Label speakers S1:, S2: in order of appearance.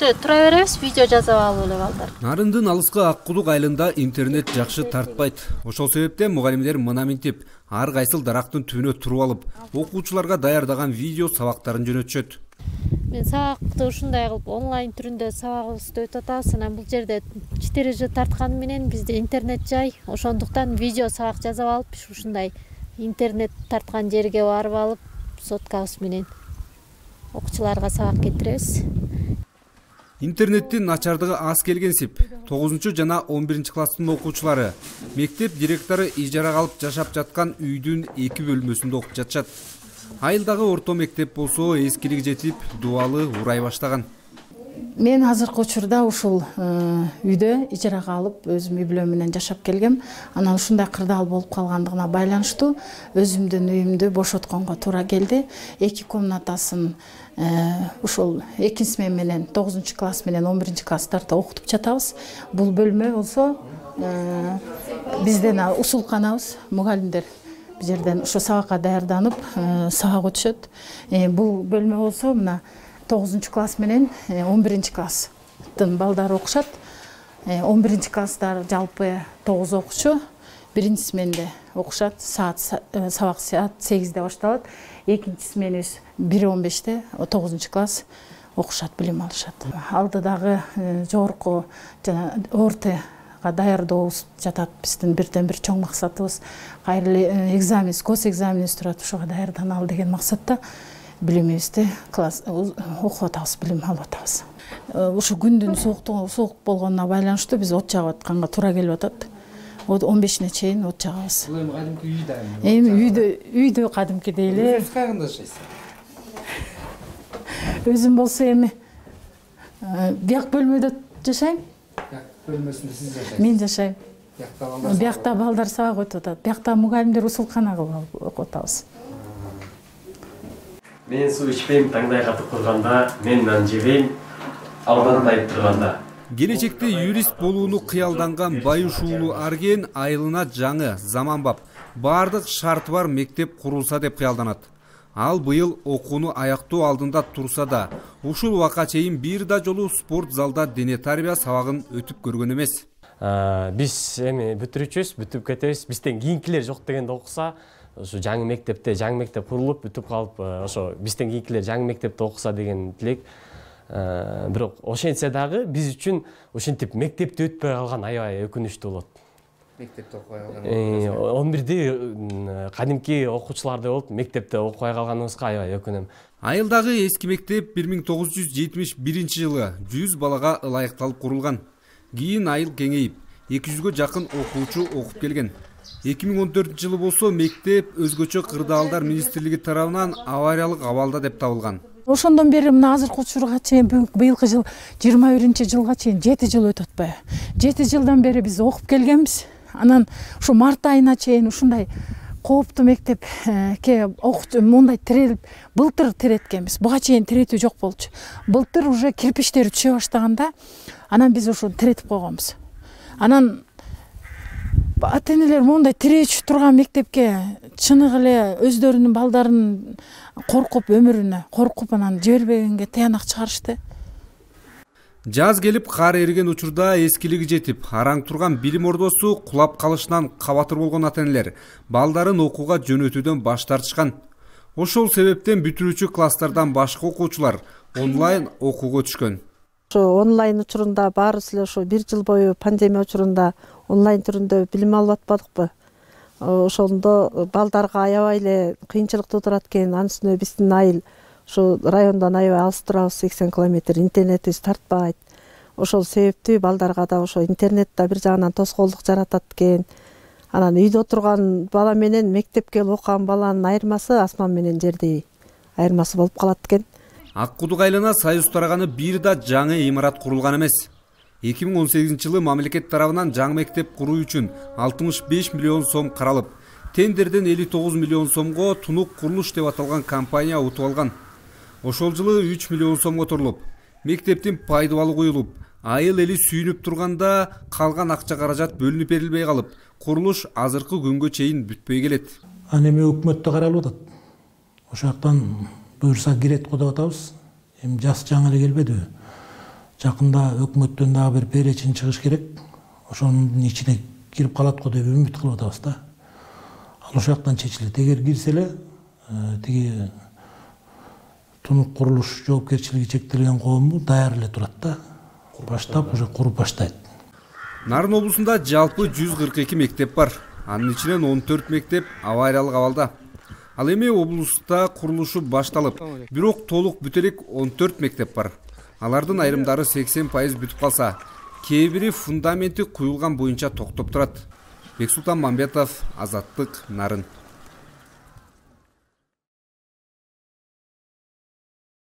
S1: Үйдө тура беребиз, видео жазып алып эле балдар.
S2: Нарындын алыскы Ак Кудук айылында интернет жакшы тартпайт. Ошол себептен мугалимдер мына минтип, ар кайсыл дарактын түбүнө туруп алып, окуучуларга даярдаган видео сабактарын жөнөтүшөт.
S1: Мен сабакты ушундай кылып онлайн түрүндө сабагыбызды өтүп атабыз. Анан бул жерде 4G тартканы менен бизде интернет жай. Ошондуктан видео сабак жазып алып, ушундай интернет тарткан жерге барып алып, соткабыз менен окуучуларга сабак кетиребиз.
S2: Интернеттин начардыгы аз келгенсип, 9 жана 11 класстын окуучулары мектеп директору ижарага алып жашап жаткан үйдүн 2 бөлмөсүндө окуп жатышат. Айылдагы орто мектеп болсо эскилиги жетип, дубалы урай баштаган.
S3: Мен азыркы учурда ушул үйдө ижарага алып, өзүм үй бүлөм менен жашап келгем. Анан ушундай кырдаал болуп калгандыгына байланыштуу өзүмдүн үйүмдү бошотконго туура келди. 2 комнатасын ушул 2 смена менен 9 класс менен 11 класстарда окутуп жатабыз. Бул бөлмө болсо бизден усулканабыз, мугалимдер бул жерден ушу сабакка даярданып, сабак өтүшөт. Бул бөлмө болсо мына 9 класс менен 11 класстын балдары окушат. 11 класстар жалпы 9 окуучу, 1 сменде окушат. Сабак саат 8де башталат. 2 сменибиз 1:15те 9 класс окушат, билим алышат. Алдыдагы жогорку жана ортага даярдообуз жатат. Биздин бирден-бир чоң максатыбыз кайрылуу экзамен, гос экзаменибиз турат, ошого даярданалы деген максатта билимибизди класс окуп атабыз, билим алып атабыз. Ушу күндүн суук болгонуна байланыштуу биз от жагып атканга туура келип атат. 15-не чейин от жагабыз.
S2: Бул эми кадимки үйдө.
S3: Эми үйдө кадимкидей эле.
S2: Өзүңүз кайганда жашайсыз?
S3: Өзүм болсо эми бияк бөлмөдө жашайм.
S2: Бияк бөлмөсүндө сиз жашайсыз?
S3: Мен жашайм.
S2: Биякта
S3: балдар сабак өтүп атат. Биякта мугалимдер усулкана кылып окуп атабыз.
S4: Мен суу ичпейм, таңдай катып курганда, мен нан жебейм, алдан тайып турганда.
S2: Келечекте юрист болууну кыялданган Байыш уулу Арген айылына жаңы, заманбап, бардык шарты бар мектеп курулса деп кыялданат. Ал быйыл окууну аяктоо алдында турса да, ушул убакка чейин бир да жолу спорт залда дене тарбия сабагын өтүп көргөн эмес.
S4: Биз эми бүтүрүчүбүз, бүтүп кетебиз. Бизден кийинкилер жок дегенде окуса, ошо жаңы мектеп курулуп бүтүп калып, ошо бизден кийинкилер жаңы мектепте окуса деген тилек. Бирок ошентсе дагы биз үчүн ошентип мектепти өтпөй калган аябай өкүнүчтүү болот.
S2: Мектепте окубай калган.
S4: 11-де кадимки окуучулардай болуп, мектепте окубай калганыбызга аябай өкүнөм.
S2: Айылдагы эски мектеп 1971 жылы 100 балага ылайыкталып курулган. Кийин айыл кеңейип, 200гө жакын окуучу окуп келген. 2014 жылы болсо мектеп өзгөчө кырдаалдар министрлиги тарабынан авариялык абалда деп табылган.
S3: Ошондон бери мына азыркы учурга чейин быйылкы жыл 21-жылга чейин 7 жыл өтүп атпайбы? 7 жылдан бери биз окуп келгенбиз. Анан ушу март айына чейин ушундай кооптуу мектепке окуучу мындай тирелип, былтыр тиреткенбиз. Буга чейин тиретүү жок болчу. Былтыр уже кирпичтери түшө баштаганда, анан биз ушуну тиретип койгонбуз. Анан ата-энелер мондай тиречү турган мектепке чыныгы эле өздөрүнүн балдарын коркуп, өмүрүнө коркуп, анан жибербегенге таянак чыгарышты.
S2: Жаз келип кар эриген учурда эскилиги жетип, араң турган билим ордосу кулап калышынан кабатыр болгон ата-энелер балдарын окууга жөнөтүүдөн баш тартышкан. Ошол себептен бүтүрүүчү класстардан башка окуучулар онлайн окууга өтүшкөн.
S5: Ошо онлайн учурунда баарыбыз эле ошо 1 жыл бою пандемия учурунда онлайн түрүндө билим алып атпадыкпы? Ошондо балдарга аябай эле кыйынчылык туудурат экен. Анын үстүнө биздин айыл ошо райондон аябай алыс турабыз, 80 километр, интернетибиз тартпайт. Ошол себептүү балдарга да ошо интернет да бир жагынан тоскоолдук жаратат экен. Анан үйдө отурган бала менен мектепке келип окуган баланын айырмасы асман менен жердей айырмасы болуп калат экен.
S2: Ак Кудук айылына союз тараганы бир да жаңы имарат курулган эмес. 2018 жылы мамлекет тарабынан жаңы мектеп куруу үчүн 65 миллион сом каралып, тендерден 59 миллион сомго Тунук курулуш деп аталган компания утуп алган. Ошол жылы 3 миллион сомго турулуп, мектептин пайдубалы куюлуп, айыл эли сүйүнүп турганда калган акча каражат бөлүнүп берилбей калып, курулуш азыркы күнгө чейин бүтпөй келет.
S6: Аны эми өкмөттө каралып атат. Ошол жактан буюрса кирет го деп атабыз. Эми жас жаңы эле келбедиби? Жакында өкмөттөн дагы бир перечин чыгыш керек. Ошонун ичине кирип калат го деп үмүт кылып атабыз да. Ал ошол жактан чечилет. Эгер кирсе эле тиги тунук курулуш жоопкерчилиги чектелген коому даяр эле турат да. Баштап уже куруп баштайт.
S2: Нарын облусунда жалпы 142 мектеп бар. Анын ичинен 14 мектеп авариялык абалда. Ал эми облуста курулушу башталып, бирок толук бүтө элек 14 мектеп бар. Алардын айрымдары 80% бүтүп калса, кээ бири фундаменти куюлган боюнча токтоп турат. Бексултан Мамбетов, Азаттык, Нарын.